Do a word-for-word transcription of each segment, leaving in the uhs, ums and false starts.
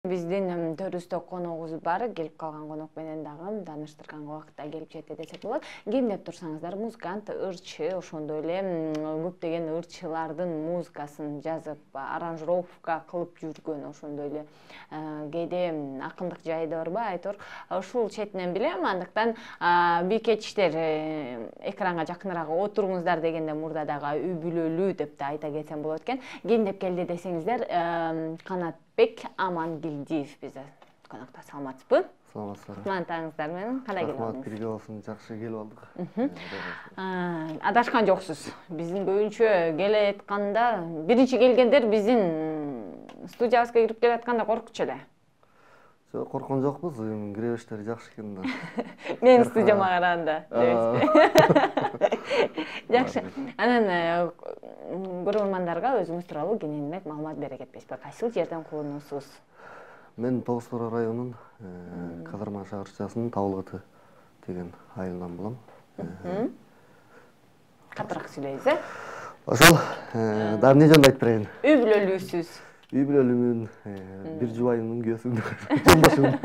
Биздин төрүбүздө коногубуз бар, келип калган конок менен дагы тааныштырганга убакытта келип жетти десек болот. Кемдеп турсаңыздар, музыкант, ырчы, ошондой эле көптөгөн ырчылардын музыкасын жазып, аранжировка кылып жүргөн, ошондой эле кээде акындык жайы да барбы, айтор. Ушул четинен билем, андыктан бийкечтер экранга жакыныраак отуруңуздар дегенде мурда дагы үй бүлөлүү деп да айта кетсем болот экен. Кемдеп келди десеңиздер, Канатбек Амангелдиев бизде конокто. Саламатсызбы? Саламатсыздар. Кутмандыгыңыздар менен кандай келип алдыңыз? Рахмат, бирге болсун, жакшы келип алдык. Адашкан жоксуз. Биздин көбүнчө келе атканда, биринчи келгендер биздин студиябызга кирип келе атканда коркчу эле. Жок, корккон жокпуз, киребиштери жакшы экен да. Менин студияма караганда, дебесизби? Жакшы. Анан көрөрмандарга өзүңүз тууралуу кененирээк маалымат бере кетпейсизби? Кайсыл жерден кулунуусуз? Мен Тогуз Тоо районунун Казарма шаарчасынын Табылгыты деген айылынан болом. Катыраак сүйлөйсүз, э? Ошол, дагы эмне жөнүндө айтып берейин? Үй бүлөлүүсүз. Үй бүлөлүүмүн, бир жубайымдын күйөөсүмүн, жолдошумун.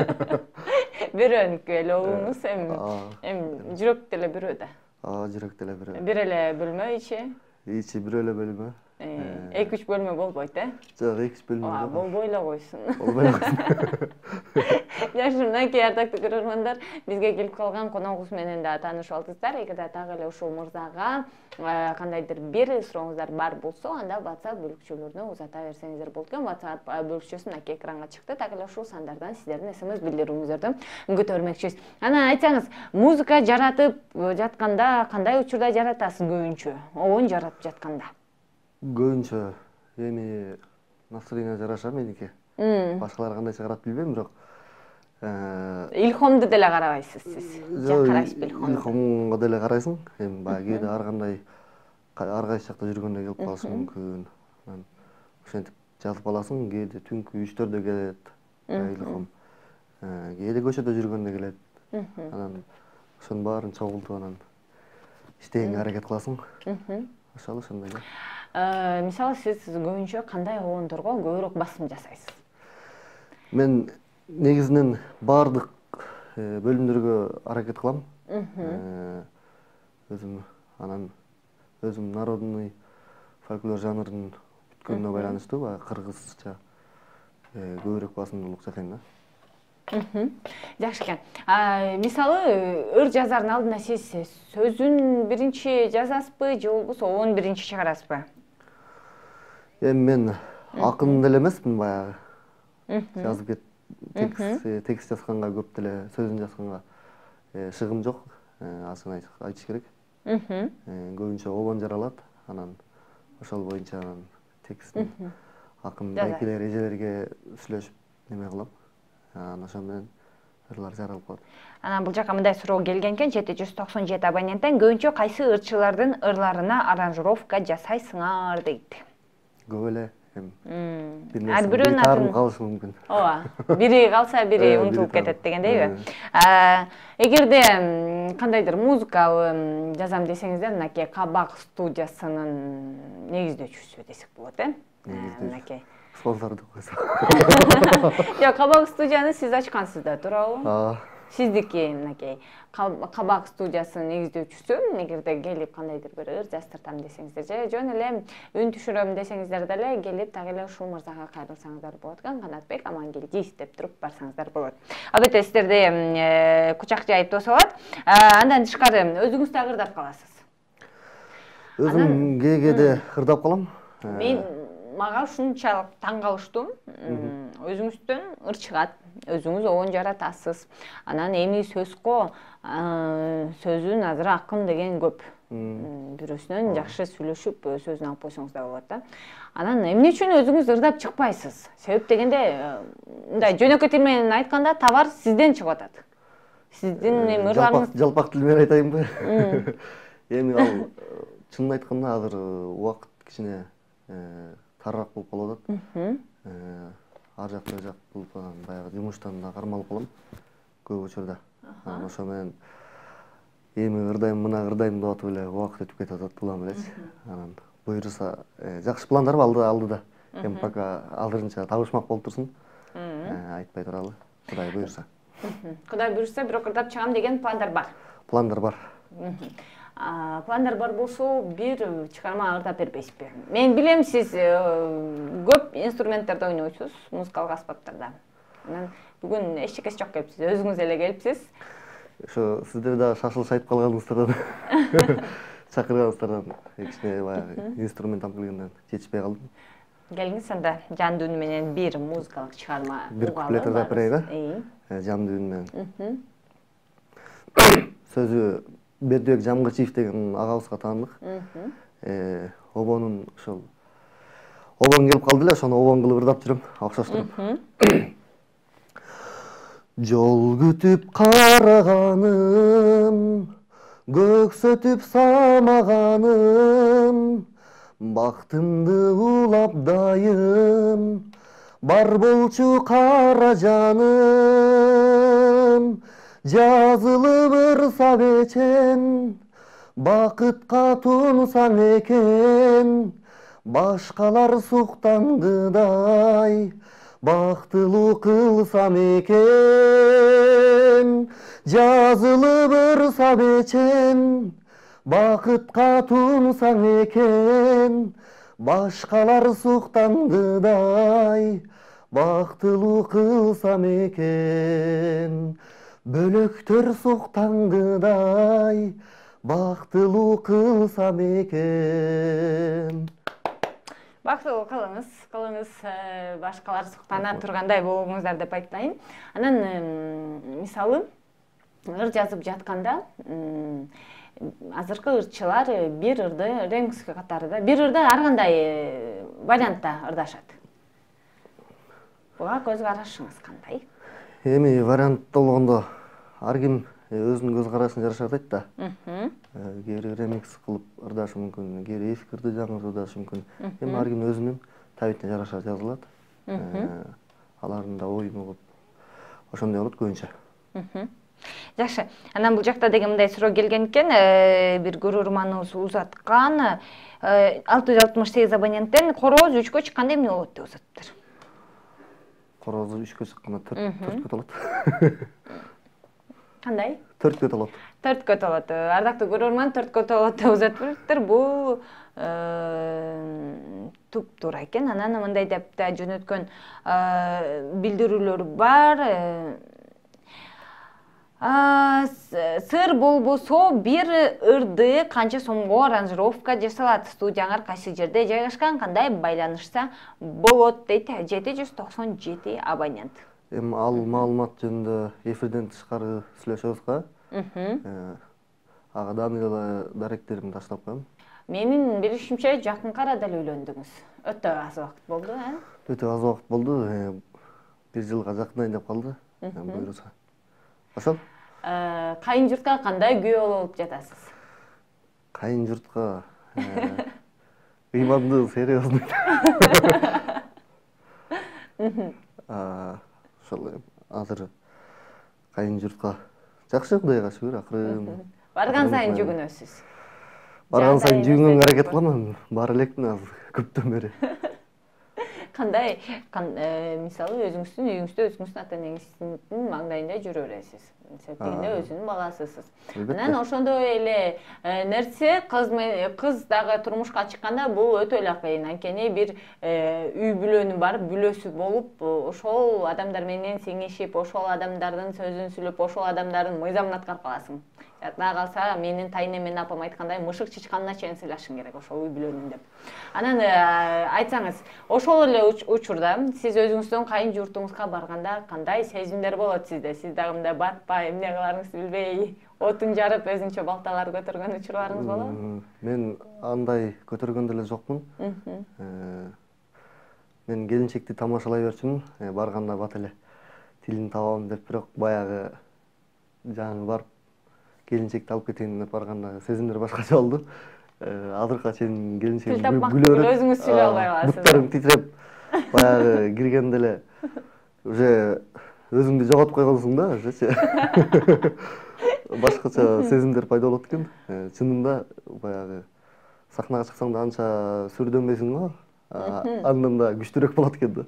Бирөөнүкү эле уулуңуз, эми жүрөк деле бирөө да. Ооба, жүрөк деле бирөө. Бир эле бөлмө ичи? Ичи бир эле бөлмө. эки үч бөлмө болбойт, э? Жок, эки үч бөлмө жок. Болбой эле койсун. Болбой эле койсун. Жакшы, мынакей ардактуу көрөрмандар, бизге келип калган коногубуз менен да таанышып алдыңыздар. Эгерде дагы эле ушул мырзага кандайдыр бир сурооңуздар бар болсо, анда WhatsApp бөлүкчөлөрүнө узата берсеңиздер болот экен. WhatsApp бөлүкчөсү мынакей экранга чыкты. Так эле ушул сандардан сиздердин смс билдирүүңүздөрдү көтөрмөкчүбүз. Анан айтсаңыз, музыка жаратып жатканда кандай учурда жаратасыз көбүнчө? Обон жаратып жатканда? Көбүнчө эми настроение жараша меники. Башкалар кандайча карап билбейм, бирок илхомду деле карабайсыз сиз. Жак карайсызбы илхомго? Илхомго деле карайсың. Эми баягы кээде ар кандай ар кайсы жакта жүргөндө келип калышы мүмкүн. Анан ошентип жазып аласың. Кээде түнкү үчтөрдө келет илхом. Кээде көчөдө жүргөндө келет. Анан ошонун баарын чогултуп анан иштегенге аракет кыласың. Ошол ошондой эле. Мисалы, сиз көбүнчө кандай обондорго көбүрөөк басым жасайсыз? Мен негизинен баардык бөлүмдөргө аракет кылам. Өзүм анан өзүм народный фольклор жанрын бүткөнүнө байланыштуу, баягы кыргызча көбүрөөк басымдуулук жасайм да. Жакшы экен. Мисалы, ыр жазардын алдында сиз сөзүн биринчи жазасызбы же болбосо обон биринчи чыгарасызбы? Эми мен акын деле эмесмин, баягы жазып кет текст жазганга, көп деле сөзүн жазганга шыгым жок, асын айтыш керек. Көбүнчө обон жаралат, анан ошол боюнча анан текстин акын байкелер, эжелерге сүйлөшүп неме кылам. Анан ошол менен ырлар жаралып калат. Анан бул жака мындай суроо келген экен, жети жүз токсон жети абоненттен көбүнчө кайсы ырчылардын ырларына аранжировка жасайсыңар дейт. Көп эле. Ар бирөөнүн атын калышы мүмкүн. Ооба, бири калса бири унутулуп кетет дегендейби? Эгерде кандайдыр музыкалуу жазам десеңиздер, мынакей Кабак студиясынын негиздөөчүсү десек болот, э? Мынакей спонсорду койсо. Жок, Кабак студияны сиз ачкансыз да, туурабы? Ооба. Сиздики мынакей Кабак студиясынын негиздөөчүсү, эгерде келип кандайдыр бир ыр жаздыртам десеңиздер же жөн эле үн түшүрөм десеңиздер деле келип так эле ушул мырзага кайрылсаңыздар болот экен. Канатбек Амангелдиев деп туруп барсаңыздар болот. Албетте сиздерди кучак жайып тосуп алат. Андан тышкары өзүңүз да ырдап каласыз. Өзүм кээде ырдап калам. Мен мага ушунчалык таң калыштуу. Өзүңүздөн ыр чыгат, өзүңүз обон жаратасыз. Анан эми сөзгө сөзүн азыр акын деген көп. Бирөөсүнөн жакшы сүйлөшүп сөзүн алып койсоңуз да болот да. Анан эмне үчүн өзүңүз ырдап чыкпайсыз? Себеп дегенде, мындай жөнөкөй тил менен айтканда, товар сизден чыгып атат. Сиздин эми ырларыңыз жалпак тил менен айтайынбы? Эми ал чынын айтканда азыр убакыт кичине тарыраак болуп калып атат. Ар жак бул жак болуп анан баягы жумуштан да кармалып калам көп учурда. Анан ошо менен эми ырдайм, мына ырдайм деп атып эле убакыт өтүп кетип атат, улам элечи. Анан буюрса жакшы пландар бар алдыда. Эми пока азырынча табышмак болуп турсун. айтпай туралы, Кудай буйрса. Кудай буйрса бирок ырдап чыгам деген пландар бар. Пландар бар. Пландар бар болсо бир чыгарма ырдап бербейсизби? Мен билем, сиз көп инструменттерде ойнойсуз, музыкалык аспаптарда. Анан бүгүн эчтекеси жок келипсиз, өзүңүз эле келипсиз. Ошо сиздер да шашылыш айтып калганыңыздардан чакырганыңыздардан кичине баягы инструмент алып келгенден жетишпей калдым. Келиңиз анда жандуу үн менен бир музыкалык чыгарма бир куплет ырдап берейин, э? Жандуу үн менен. Сөзү Бердибек Жамгырчиев деген агабызга таандык. Э, обонун ошол обон келип калды эле, ошону обон кылып ырдап жүрөм, окшоштуруп. Жол күтүп караганым, көксөтүп самаганым, бактымды улап дайым, бар болчу кара жаным. Жазылып ырса бечен, бакытка тунсаң экен, башкалар суктангыдай, бактылуу кылсам экен. Жазылып ырса бечен, бакытка тунсаң экен, башкалар суктангыдай, бактылуу кылсам экен. Бөлөктөр суктангыдай, бактылуу кылсам экен. Бактылуу кылыңыз, кылыңыз, башкалар суктана тургандай болуңуздар деп айтайын. Анан мисалы ыр жазып жатканда азыркы ырчылар бир ырды ремикс катарында, бир ырды ар кандай вариантта ырдашат. Буга көз карашыңыз кандай? Эми вариантта болгондо ар ким өзүнүн көз карашын жараша ырдайт да. Кээбири ремикс кылып ырдашы мүмкүн, кээбири эски ырды жаңы ырдашы мүмкүн. Эми ар ким өзүнүн табитине жараша жазылат. Алардын да оюн угуп ошондой болот көбүнчө. Жакшы. Анан бул жакта деген мындай суроо келген экен, бир көрөрманыбыз узаткан, алты жүз алтымыш сегиз абоненттен корооз үчкө чыкканда эмне болот деп узатыптыр. Корозу үчкө чыкканда төрткө толот. Кандай? Төрткө толот. Төрткө толот. Ардактуу көрөрман, төрткө толот деп узатыптыр. Бул туп-туура экен. Анан мындай деп да жөнөткөн билдирүүлөр бар. Сыр болбосо бир ырды канча сомго аранжировка жасалат? Студияңар кайсы жерде жайгашкан, кандай байланышса болот дейт жети жүз токсон жети абонент. Эми ал маалымат жөнүндө эфирден тышкары сүйлөшөбүз го. Ага дагы эле даректеримди таштап коем. Менин билишимче жакынкы арада эле үйлөндүңүз. Өтө аз убакыт болду, э? Өтө аз убакыт болду. Бир жылга жакындайын деп калды. Буйруса. Ошол? Кайын журтка кандай күйөө болуп жатасыз? Кайын журтка ыймандуу, серьезный. Ошол азыр кайын журтка жакшы, Кудайга шүгүр, акырын. Барган сайын жүгүнөсүз. Барган сайын жүгүнгөнгө аракет кылам, бара элекмин азыр көптөн бери. Кандай, мисалы өзүңүздүн үйүңүздө өзүңүздүн ата-энеңиздин маңдайында жүрө бересиз. Себебинде өзүнүн баласысыз. Анан ошондой эле нерсе кыз дагы турмушка чыкканда бул өтө эле кыйын. Анткени бир үй бүлөнү бар, бүлөсү болуп, ошол адамдар менен сиңишип, ошол адамдардын сөзүн сүйлөп, ошол адамдардын мыйзамын аткарып каласың. Жада калса, менин тайнем менен апам айткандай мышык чычканына чейин сыйлашың керек ошол үй бүлөнүн деп. Анан айтсаңыз, ошол эле учурда сиз өзүңүздүн кайын журтуңузга барганда кандай сезимдер болот сизде? Сиз дагы мындай батпай, эмне кыларыңызды билбей, отун жарып, өзүнчө балталар көтөргөн учурларыңыз болобу? Мен андай көтөргөн деле жокмун. Мен келинчекти тамашалай берчүмүн, барганда бат эле тилин табам деп, бирок баягы жаңы барып келинчекти алып кетейин деп барганда сезимдер башкача болду. Азыркыга чейин келинчегим күлөөрөт. Өзүңүз сүйлөй албай каласыз. Буттарым титиреп, баягы киргенде эле уже өзүңдү жоготуп койгонсуң да, ошочу. Башкача сезимдер пайда болот экен. Чынында баягы сахнага чыксаң да анча сүрдөнбөйсүң го. Андан да күчтүүрөөк болот экен да.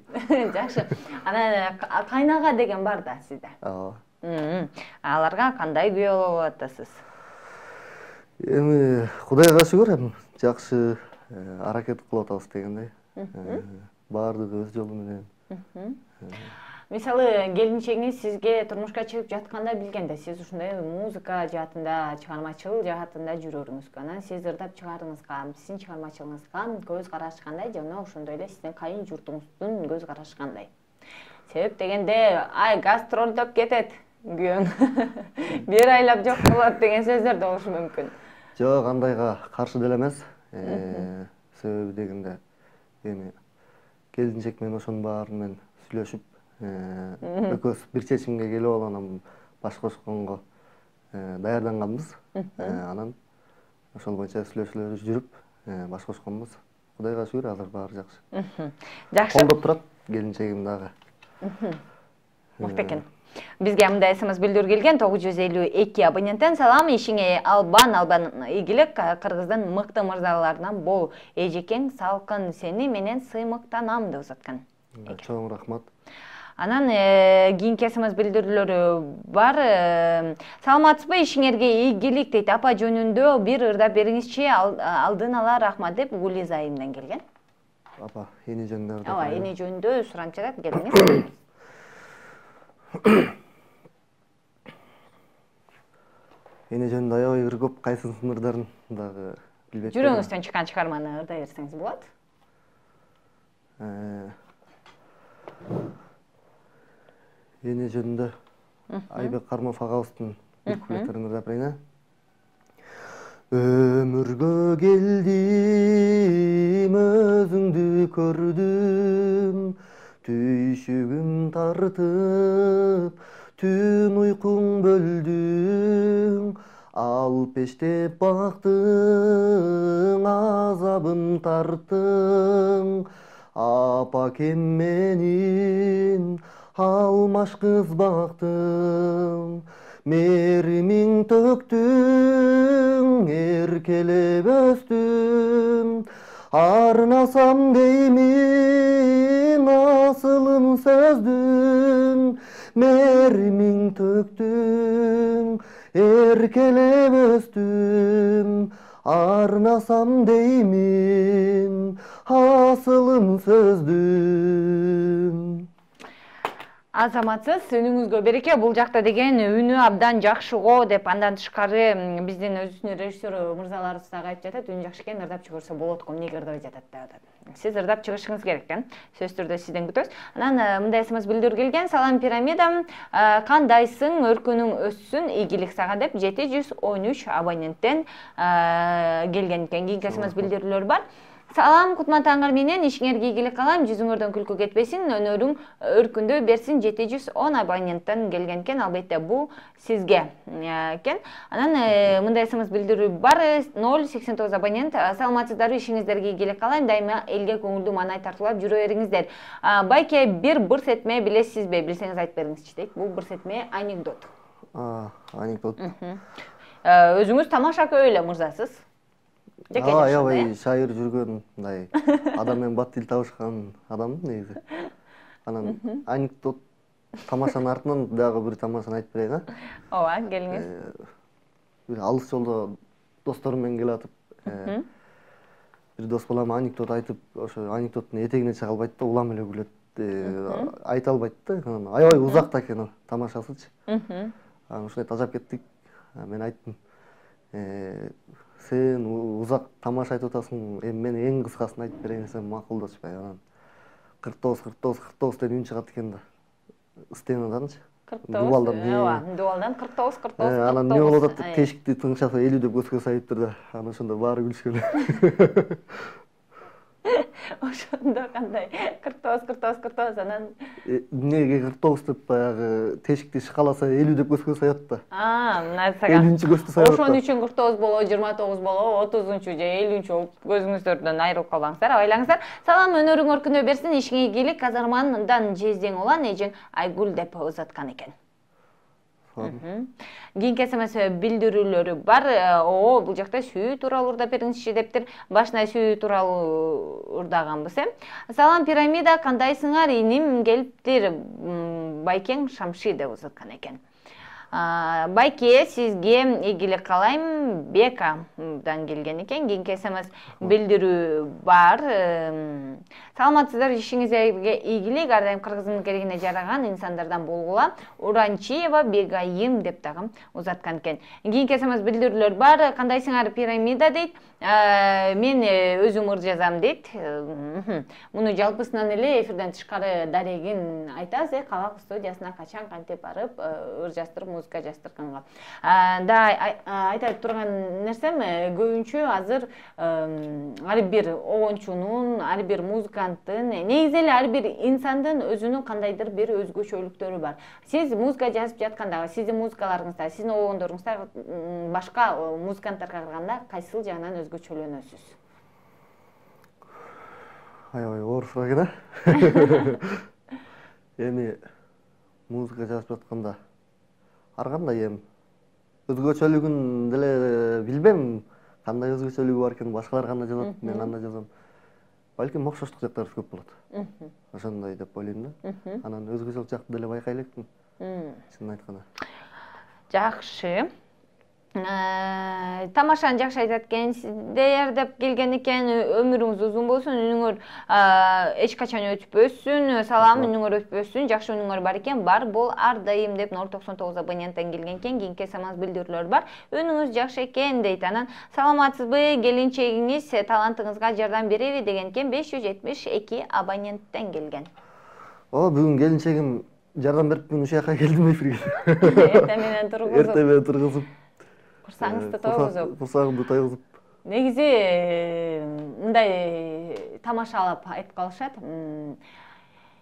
Жакшы. Анан кайнага деген бар да сизде. Ооба. Аларга кандай күбө болуп атасыз? Эми Кудайга шүгүр, эми жакшы аракет кылып атабыз дегендей. Баардыгы өз жолу менен. Мисалы, келинчегиңиз сизге турмушка чыгып жатканда билгенде, сиз ушундай музыка жаатында, чыгармачыл жаатында жүрөрүңүзгө, анан сиз ырдап чыгарыңызга, сиздин чыгармачылыгыңызга көз карашы кандай, жана ошондой эле сиздин кайын журтуңуздун көз карашы кандай? Себеп дегенде, ай гастролдоп кетет күйөөң, бир айлап жок болот деген сөздөр да болушу мүмкүн. Жок, андайга каршы деле эмес. Себеби дегенде, эми келинчек менен ошонун баарын менен сүйлөшүп, экөөбүз бир чечимге келип алып, анан баш кошконго даярданганбыз. Анан ошол боюнча сүйлөшүүлөр жүрүп, баш кошконбуз. Кудайга шүгүр, азыр баары жакшы. Жакшы. Колдоп турат келинчегим дагы. Мыкты экен. Бизге мындай смс билдирүү келген тогуз жүз элүү эки абоненттен: салам, ишиңе албан, албан ийгилик, Кыргыздын мыкты мырзаларынан бол. Эжекең салкын, сени менен сыймыктанам деп узаткан. Чоң рахмат. Анан кийинки смс билдирүүлөрү бар. Саламатсызбы, ишиңерге ийгилик дейт. Апа жөнүндө бир ырдап бериңизчи, алдын ала рахмат деп Гулиза айымдан келген. Апа, эне жөнүндө ырдап. Ооба, эне жөнүндө суранып жатат, келиңиз. Эне жөнүндө аябай ыр көп, кайсысын ырдарын дагы билбейт. Жүрөгүңүздөн чыккан чыгарманы ырдай берсеңиз болот. Эне жөнүндө Айбек Кармов агабыздын бир куплеттерин ырдап берейин. Өмүргө келдим, өзүңдү көрдүм, түйшүгүм тартып, түн уйкуң бөлдүң, ал пештеп бактың, азабын тарттың, апакем менин алмаш кыз бактың, меримиң төктүң, эркелеп өстүм, арнасам деймин асылын сөздүн, меримиң төктүң, эркелеп өстүм, арнасам деймин асылын сөздүн. Азаматсыз, үнүңүзгө береке. Бул жакта деген үнү абдан жакшы го деп, андан тышкары биздин өзүбүздүн режиссер мырзаларыбыз дагы айтып жатат, үнү жакшы экен, ырдап чыгырса болот го, эмнеге ырдабай жатат деп атат. Сиз ырдап чыгышыңыз керек экен. Сөзсүз түрдө сизден күтөбүз. Анан мындай смс билдирүү келген: салам пирамида, кандайсың, өркүнүң өссүн, ийгилик сага деп жети жүз он үч абоненттен келген экен. Кийинки смс билдирүүлөр бар. Салам, кутман таңыр менен, ишиңерге ийгилик калам, жүзүңөрдөн күлкү кетпесин, өнөрүң өркүндө берсин. Жети жүз он абоненттен келген экен, албетте бул сизге экен. Анан мындай смс билдирүү бар. ноль сексен тогуз абонент: саламатсыздарбы, ишиңиздерге ийгилик калайм, дайыма элге көңүлдүү маанай тартуулап жүрө бериңиздер. Байке, бир бырс этме билесизби? Билсеңиз айтып бериңизчи дейт. Бул бырс этме анекдот. Анекдот. Өзүңүз тамаша көп эле мырзасыз. Аябай шайыр жүргөн, мындай адам менен бат тил табышкан адаммын негизи. Анан анекдот тамашанын артынан дагы бир тамашаны айтып берейин, а? Ооба, келиңиз. Бир алыс жолдо досторум менен келатып, бир дос балам анекдот айтып, ошо анекдоттун этегине чыга албайт да, улам эле күлөт, айта албайт да. Аябай узак экен тамашасычы. Анан ушундай тажап кеттик. Мен айттым: сен узак тамаша айтып атасың, эми мен эң кыскасын айтып берейин десем макулдашпай, анан кырк тогуз кырк тогуз кырк тогуз деп үн чыгат экен да. Стенаданчы. Дубалдан. Ооба, дубалдан кырк тогуз кырк тогуз. Анан эмне болуп атат деп тешикти тыңшаса элүү деп көзгө сайыптыр да. Анан ошондо баары күлүшкөн. Ошондо кандай кырк тогуз кырк тогуз кырк тогуз анан эмнеге кырк тогуз деп баягы тешикти шкаласа элүү деп көзгө саят да. А, мына сага. элүүнчү көздү саят. Ошон үчүн кырк тогуз болобу, жыйырма тогуз болобу, отузунчу же элүүнчү болуп көзүңүздөрдөн айрылып калбаңыздар, абайлаңыздар. Салам, өнөрүң өркүндөй берсин, ишиңе ийгилик, Казармандан жездең улан, эжең Айгүл деп узаткан экен. Кийинки смс билдирүүлөрү бар. О, бул жакта сүйүү тууралуу урдап бериңизчи дептир. Башына сүйүү тууралуу урдаганбыз, э. Салам пирамида, кандайсыңар? Иним келиптир. Байкең Шамши деп узаткан экен. Байке, сизге ийгилик каалайм. Бекадан келген экен. Кийинки смс билдирүү бар. Саламатсыздар, ишиңизге ийгилик, ар дайым кыргыздын керегине жараган инсандардан болгула. Уранчиева Бегайым деп дагы узаткан экен. Кийинки смс билдирүүлөр бар. Кандайсыңар пирамида дейт. Мен өзүм ыр жазам дейт. Муну жалпысынан эле эфирден тышкары дарегин айтасыз, э, Кабак студиясына качан кантип барып ыр жаздырып, музыка жаздырганга. Да, айтып турган нерсем көбүнчө азыр ар бир огончунун, ар бир музыканттын, негизи эле ар бир инсандын өзүнүн кандайдыр бир өзгөчөлүктөрү бар. Сиз музыка жазып жатканда, сиздин музыкаларыңызда, сиздин огондоруңузда башка музыканттарга караганда кайсыл жагынан өзгөчөлөнөсүз? Аябай оор суроо экен, э. Эми музыка жазып жатканда ар кандай эми өзгөчөлүгүн деле билбейм. Кандай өзгөчөлүгү бар экен, башкалар кандай жазат, мен кандай жазам. Балким окшоштук жактарыбыз көп болот. Ошондой деп ойлойм да. Анан өзгөчөлүк жакты деле байкай элекмин. Чынын айтканда. Жакшы. Тамашаны жакшы айтат экенсиздер деп келген экен. Өмүрүңүз узун болсун, үнүңөр эч качан өтпөсүн. Салам, үнүңөр өтпөсүн. Жакшы үнүңөр бар экен. Бар бол ар дайым деп ноль токсон тогуз абоненттен келген экен. Кийинки смс билдирүүлөр бар. Үнүңүз жакшы экен дейт. Анан саламатсызбы, келинчегиңиз талантыңызга жардам береби деген экен. беш жүз жетимиш эки абоненттен келген. О, бүгүн келинчегим жардам берип мен ушул жака келдим эфирге. Эртең менен тургузуп. Эртең менен тургузуп. Курсаңызды тойгузуп. Курсагымды тойгузуп. Негизи мындай тамашалап айтып калышат.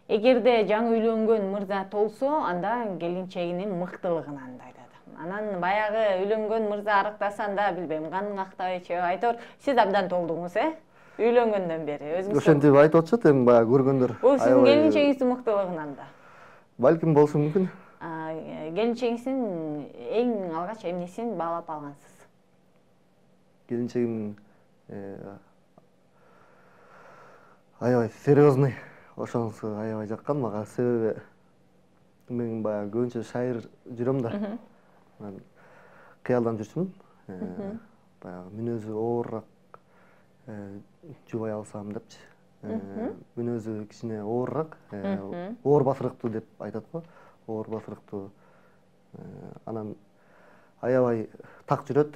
Эгерде жаңы үйлөнгөн мырза толсо, анда келинчегинин мыктылыгынан айтат. Анан баягы үйлөнгөн мырза арыктасанда, билбейм, каның актабайчы, айтор, сиз абдан толдуңуз, э? Үйлөнгөндөн бери. Ошентип айтып атышат эми баягы көргөндөр. Бул сиздин келинчегиңиздин мыктылыгынан да. Балким болушу мүмкүн. Келинчегиңиздин эң алгач эмнесин баалап алгансыз? Келинчегим аябай серьезный, ошонусу аябай жаккан мага. Себеби мен баягы көбүнчө шайыр жүрөм да. Мен кыялдан жүрчүмүн. Баягы мүнөзү оорураак жубай алсам депчи. Мүнөзү кичине оорураак, оор басырыктуу деп айтат го. Оор басырыктуу. Анан аябай так жүрөт.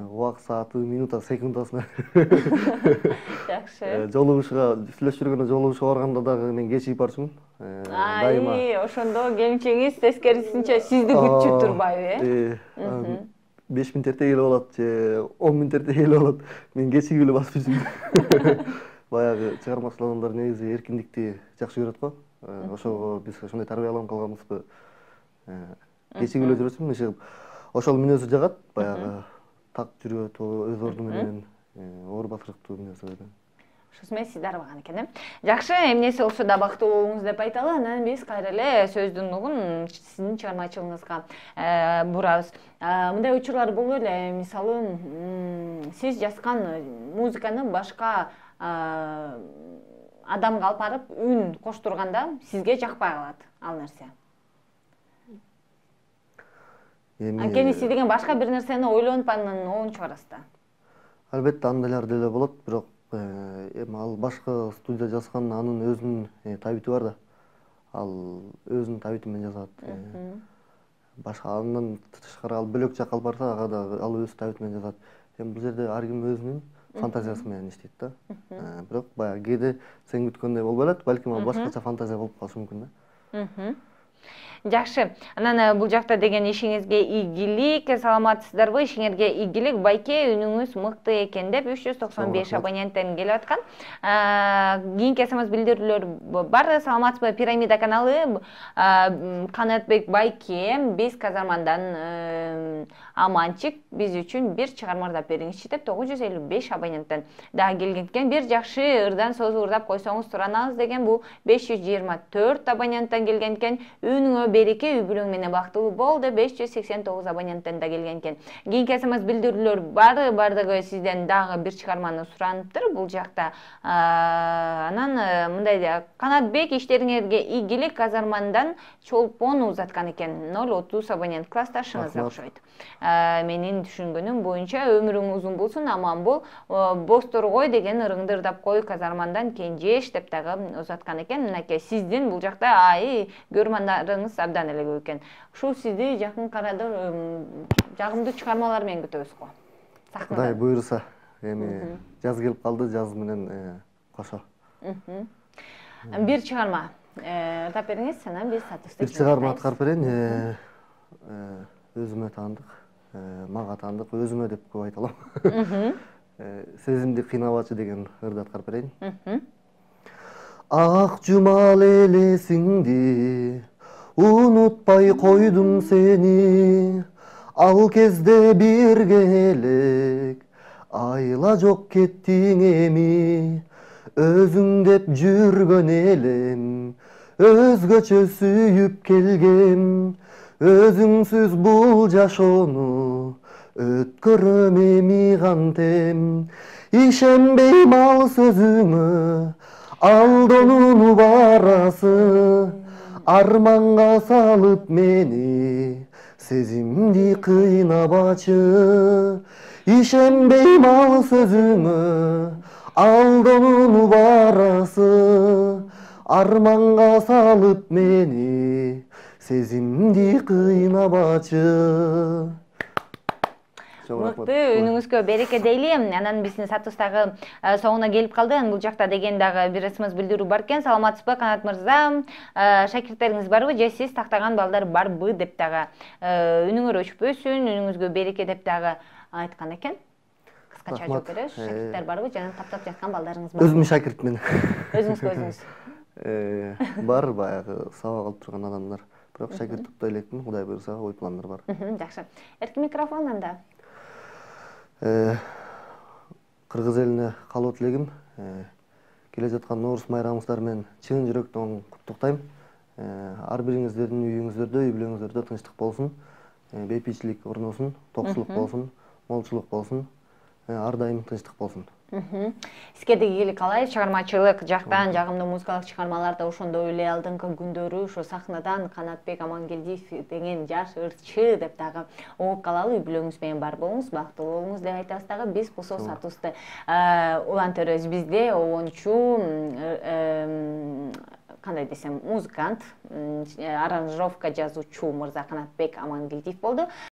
Убак сааты, минута, секундасына. Жакшы. Жолугушууга, сүйлөшүп жүргөндө жолугушууга барганда дагы мен кечигип барчумун. Дайыма. Ошондо келинчегиңиз тескерисинче сизди күтчү турбайбы, э? беш мүнөт эрте келип алат же он мүнөт эрте келип алат. Мен кечигип эле басып жүрчүмүн. Баягы чыгармачыл адамдар негизи эркиндикти жакшы көрөт го. Ошого биз ошондой тарбияланып калганбызбы? Кечигип эле жүрөсүң, иши ошол мүнөзү жагат, баягы так жүрөт, өз орду менен, оор басырыктуу мүнөзү. Ошосу менен сизди арбаган экен, э? Жакшы, эмнеси болсо да бактылуу болуңуз деп айталы. Анан биз кайра эле сөздүн угун сиздин чыгармачылыгыңызга бурабыз. Мындай учурлар болду эле, мисалы, сиз жазган музыканы башка адамга алып барып үн коштурганда сизге жакпай калат ал нерсе. Анткени сиз деген башка бир нерсени ойлонуп анан оон чыгарасыз да. Албетте андайлар деле болот, бирок эми ал башка студия жазган, анын өзүнүн табити бар да. Ал өзүнүн табити менен жазат. Башка андан тышкары ал бөлөк жакка алып барса, ага да ал өз табити менен жазат. Эми бул жерде ар ким өзүнүн фантазиясы менен иштейт да. Бирок баягы кээде сен күткөндөй болбой алат, балким ал башкача фантазия болуп калышы мүмкүн да. Жакшы. Анан бул жакта деген ишиңизге ийгилик, саламатсыздарбы? Ишиңерге ийгилик. Байке, үнүңүз мыкты экен деп үч жүз токсон беш абоненттен келип аткан. Кийинки смс билдирүүлөр бар. Саламатсызбы? Пирамида каналы, Канатбек Байке, биз Казармандан аманчык, биз үчүн бир чыгармардап бериңизчи деп тогуз жүз элүү беш абоненттен дагы келген экен. Бир жакшы ырдан созу ырдап койсоңуз туранабыз деген бул беш жүз жыйырма төрт абоненттен келген экен. Үнүңө береке, үй бүлөң менен бактылуу бол деп беш жүз сексен тогуз абоненттен да келген экен. Кийинки смс билдирүүлөр бар, бардыгы сизден дагы бир чыгарманы сураныптыр бул жакта. Анан мындай Канатбек, иштериңерге ийгилик, казармандан чолпон узаткан экен. ноль отуз абонент, классташыңыз окшойт. Менин түшүнгөнүм боюнча өмүрүң узун болсун, аман бол, босторгой деген ырыңдырдап кой, казармандан Кенжеш деп дагы узаткан экен. Мынакей сиздин бул жакта ай көрмандарыңыз абдан эле көп экен. Ушул сизди жакын арада жагымдуу чыгармалар менен күтөбүз го. Кудай буйруса, эми жаз келип калды, жаз менен кошо. Бир чыгарма тап бериңиз, анан биз сатышты. Бир чыгарма аткарып берейин. Өзүмө таандык, мага таандык, өзүмө деп көп айта алам. Сезимди кыйнабачы деген ырды аткарып берейин. Ак жумал элесиңди унутпай койдум сени, ал кезде бирге элек айла жок кеттиң эми, өзүң деп жүргөн элем өзгөчө сүйүп келгем, өзүңсүз бул жашоону өткөрөм эми кантем, ишенбейм ал сөзүңө, алдонууну барасы, арманга салып мени, сезимди кыйнабачы, ишенбейм ал сөзүңө, алдонууну барасы, арманга салып мени, сезимди кыйнабачы. Мыкты, үнүңүзгө береке дейли. Анан биздин сатыбыздагы соңуна келип калды. Бул жакта деген дагы бир смс билдирүү бар экен. Саламатсызбы, Канат мырза? Шакирттериңиз барбы же сиз тактаган балдар барбы деп дагы үнүңөр өчпөсүн, үнүңүзгө береке деп дагы айткан экен. Кыскача жооп беребиз. Шакирттер барбы жана таптап жаткан балдарыңыз барбы? Өзүм шакиртмин. Өзүңүзгө өзүңүз. Бар баягы сабак алып турган адамдар. Бирок шакирт тутпай элекмин, Кудай буйруса, ой пландар бар. Жакшы. Эркин микрофон анда. Кыргыз элине калуу тилегим, келе жаткан Нооруз майрамыңыздар менен чын жүрөктөн куттуктайм. Ар бириңиздердин үйүңүздөрдө, үй бүлөңүздөрдө тынчтык болсун, бейпичилик орносун, токчулук болсун, молчулук болсун, ар дайым тынчтык болсун. Сизге да ийгилик каалайбыз. Чыгармачылык жактан жагымдуу музыкалык чыгармаларда ошондой эле алдыңкы күндөрү ошо сахнадан Канатбек Амангелдиев деген жаш ырчы деп дагы угуп калалы, үй бүлөңүз менен бар болуңуз, бактылуу болуңуз деп айтабыз дагы. Биз болсо сатыбызды улантырабыз. Бизде обончу, кандай десем, музыкант, аранжировка жазуучу мырза Канатбек Амангелдиев болду.